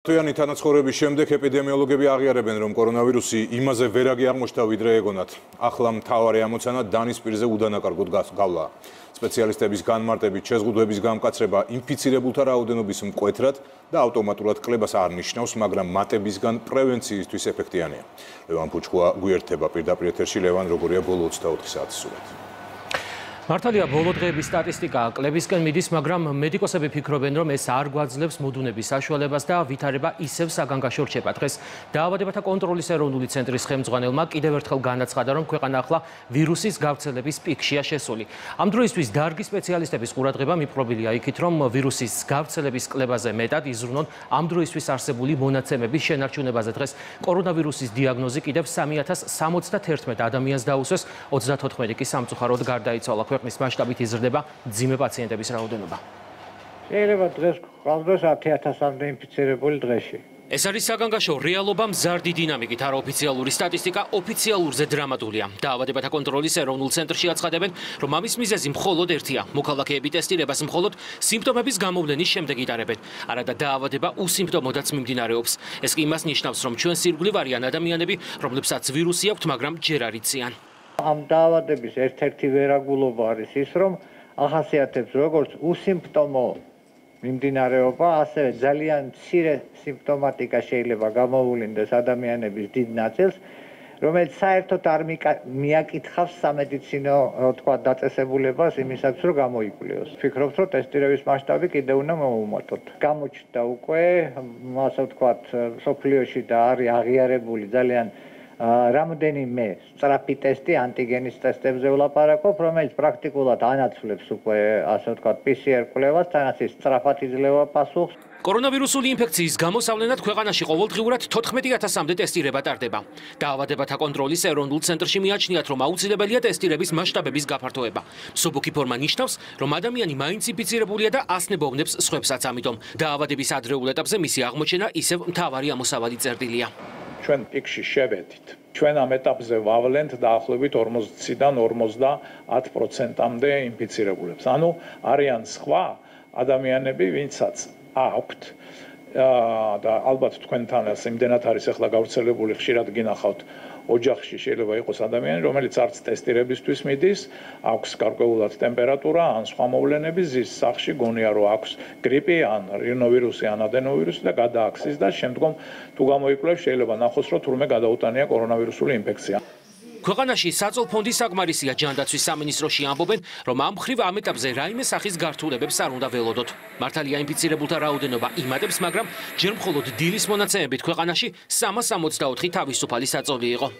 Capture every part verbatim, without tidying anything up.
თვიანი თანაცხოვრების შემდეგ ეპიდემიოლოგები აღიარებენ, რომ კორონავირუსი იმაზე ვერაგი აღმოჩნდა, ვიდრე ეგონათ. ახლა მთავარი ამოცანა დანის პირზე უდანაკარგოდ გავლა. სპეციალისტების განმარტებით შეზღუდვების გამკაცრება ინფიცირებულთა რაოდენობის მკვეთრად და ავტომატურად კლებას არ ნიშნავს, მაგრამ მატებისგან პრევენციისთვის ეფექტიანია. ლევან ფუჩქუა გვიერთება პირდაპირ ეთერში. ლევან, როგორია ბოლო ოცდაოთხი საათის სურათი? მართალია, ბოლო დღეების სტატისტიკა კლებისკენ მიდის, მაგრამ მედიკოსები ფიქრობენ, რომ ეს არ გვაძლევს მოდუნების საშუალებას და ვითარება ისევ საგანგაშო რჩება. დღეს დაავადებათა კონტროლის ეროვნული ცენტრის ხელმძღვანელმა კიდევ ერთხელ განაცხადა, რომ ქვეყანა ახლა ვირუსის გავრცელების პიკშია შესული. ამ დროისთვის დარგის სპეციალისტების ყურადღება მიპყრობილია იქით, რომ ვირუსის გავრცელების კლებაზე მეტად იზრუნონ ამ დროისთვის არსებული მონაცემების შენარჩუნებაზე. დღეს კორონავირუსის დიაგნოზი კიდევ სამი ათას სამოცდათერთმეტ ადამიანს დაუსვეს, ოცდათოთხმეტი კი სამწუხაროდ გარდაიცვალა. ქვეყნის მასშტაბით იზრდება მძიმე პაციენტების რაოდენობა. შეიძლება დღეს ყავდეს ათი ათასამდე ინფიცირებული დღეში. ეს არის საგანგაშო რეალობა მზარდი დინამიკით, არაოფიციალური სტატისტიკა ოფიციალურზე დრამატულია. დაავადებათა კონტროლის ეროვნულ ცენტრში აცხადებენ, რომ ამის მიზეზი მხოლოდ ერთია. მოქალაქეები ტესტირებას მხოლოდ სიმპტომების გამოვლენის შემდეგ იტარებენ. არადა დაავადება უსიმპტომოდაც მიმდინარეობს. ეს კი იმას ნიშნავს, რომ ჩვენს ირგვლივ არიან ადამიანები, რომლებსაც ვირუსი აქვთ, მაგრამ ჯერ არ იციან. ამ დაავადების ერთ-ერთი ვერაგულობა არის ის, რომ ახასიათებს როგორც უსიმპტომო მიმდინარეობა, ასევე ძალიან მცირე სიმპტომატიკა შეიძლება გამოუვლინდეს ადამიანების დიდ ნაწილს, რომელიც საერთოდ არ მიაკითხავს სამედიცინო თქვა დაწესებულებას იმისათვის, რომ გამოიკვლიოს. ვფიქრობთ, რომ ტესტირების მასშტაბი კიდევ უნდა მოუმატოთ. გამოჩნდა უკვე, ასე ვთქვათ, მსოფლიოში და არის აღიარებული ძალიან რამდენიმე სწრაფი ტესტი ანტიგენის ტესტებზე ვლაპარაკობ, რომელიც პრაქტიკულად ანაცვლებს უკვე, ასე ვთქვათ, პი სი არ კვლევას, თანაც ის სწრაფად იძლევა პასუხს. კორონავირუსული ინფექციის გამოსავლენად ქვეყანაში ყოველდღიურად თოთხმეტი ათასამდე ტესტირება ტარდება. დაავადებათა კონტროლის ეროვნულ ცენტრში მიაჩნიათ, რომ აუცილებელია ტესტირების მასშტაბების გაფართოება. მსუბუქი ფორმა ნიშნავს, რომ ადამიანი მაინც ინფიცირებულია და ასნებოვნებს სხვებსაც, ამიტომ დაავადების ადრეულ ეტაპზე მისი აღმოჩენა ისევ მთავარი ამოსავალი წერტილია. ჩვენ პიკში შევედით. ჩვენ ამ ეტაპზე ვავლენთ დაახლოებით ორმოცდან ორმოცდაათ პროცენტამდე ინფიცირებულებს. ანუ არიან სხვა ადამიანები, ვინცაც აქვთ და ალბათ თქვენთან იმდენად არის ახლა გავრცელებული, ხშირად გინახავთ ოჯახში შეიძლება იყოს ადამიანი, რომელიც არც ტესტირებისთვის მიდის, აქვს გარკვეულად ტემპერატურა ან სხვა მოვლენები, ზის სახლში გონია რომ აქვს გრიპი ან რინოვირუსი ან ადენოვირუსი და გადააქცის და შემდგომ თუ გამოიკვლევს შეიძლება ნახოს რომ თურმე გადაუტანია კორონავირუსული ინფექცია. ქვეყანაში საწოლ ფონდის საკმარისია. ჯანდაცვის სამინისტროში ამბობენ, რომ ამ მხრივ ამ ეტაპზე რაიმე სახის გართულებებს არ უნდა ველოდოთ. მართალია ინფიცირებულთა რაოდენობა იმატებს, მაგრამ ჯერ მხოლოდ დილის მონაცემებით ქვეყანაში სამას სამოცდაოთხი თავისუფალი საწოლი იყო.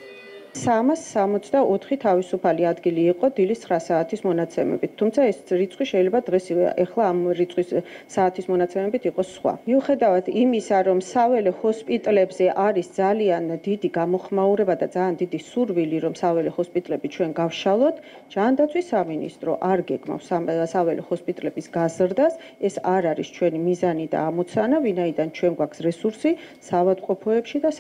სამას სამოცდაოთხი თავისუფალი ადგილი იყო დილის ცხრა საათის მონაცემებით. თუმცა ეს რიცხვი შეიძლება დღეს ახლა ამ რიცხვის საათის მონაცემებით იყოს სხვა. მიუხედავად იმისა, რომ საველე ჰოსპიტალებზე არის ძალიან დიდი გამოხმაურება და ძალიან დიდი სურვილი, რომ საველე ჰოსპიტალები ჩვენ გავშალოთ, ჯანდაცვის სამინისტრო არ გეგმავს საველე ჰოსპიტალების გაზრდას. ეს არ არის ჩვენი მიზანი და ამოცანა, ვინაიდან ჩვენ გვაქვს რესურსი საავადმყოფოებში და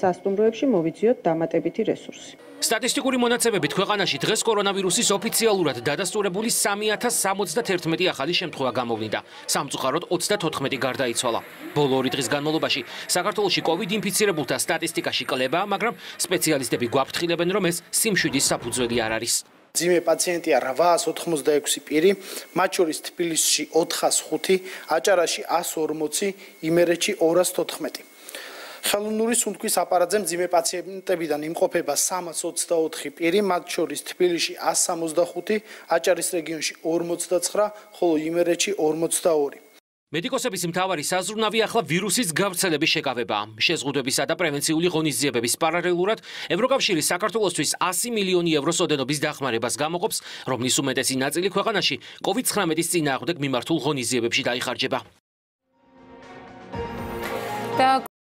სასტუმროებში მოვიძიოთ დამატებითი რესურსი. სტატისტიკური მონაცემებით ქვეყანაში დღეს კორონავირუსის ოფიციალურად დადასტურებული სამი ათას სამოცდათერთმეტი ახალი შემთხვევა გამოვლინდა. სამწუხაროდ ოცდათოთხმეტი გარდაიცვალა. ბოლო ორი დღის განმავლობაში საქართველოში კოვიდ ინფიცირებულთა სტატისტიკაში კლებაა, მაგრამ სპეციალისტები გვაფრთხილებენ, რომ ეს სიმშვიდის საფუძველი არ არის. მძიმე პაციენტია რვაას ოთხმოცდაექვსი პირი, მათ შორის თბილისში ოთხას ხუთი, აჭარაში ასს ორმოცი, იმერეთში ორას თოთხმეტი. ხელოვნური სუნთქვის აპარატზე მძიმე პაციენტებიდან იმყოფება სამას ოცდაოთხი პირი, მათ შორის თბილისში ასს სამოცდახუთი, აჭარის რეგიონში ორმოცდაცხრა, ხოლო იმერეთში ორმოცდაორი. მედიკოსების მთავარი საზრუნავი ახლა ვირუსის გავრცელების შეკავებაა. შეზღუდვებისა და პრევენციული ღონისძიებების პარალელურად ევროკავშირი საქართველოსთვის ასი მილიონი ევროს ოდენობის დახმარებას გამოყოფს, რომლის უმეტესი ნაწილი ქვეყანაში კოვიდ ცხრამეტის წინააღმდეგ მიმართულ ღონისძიებებში დაიხარჯება.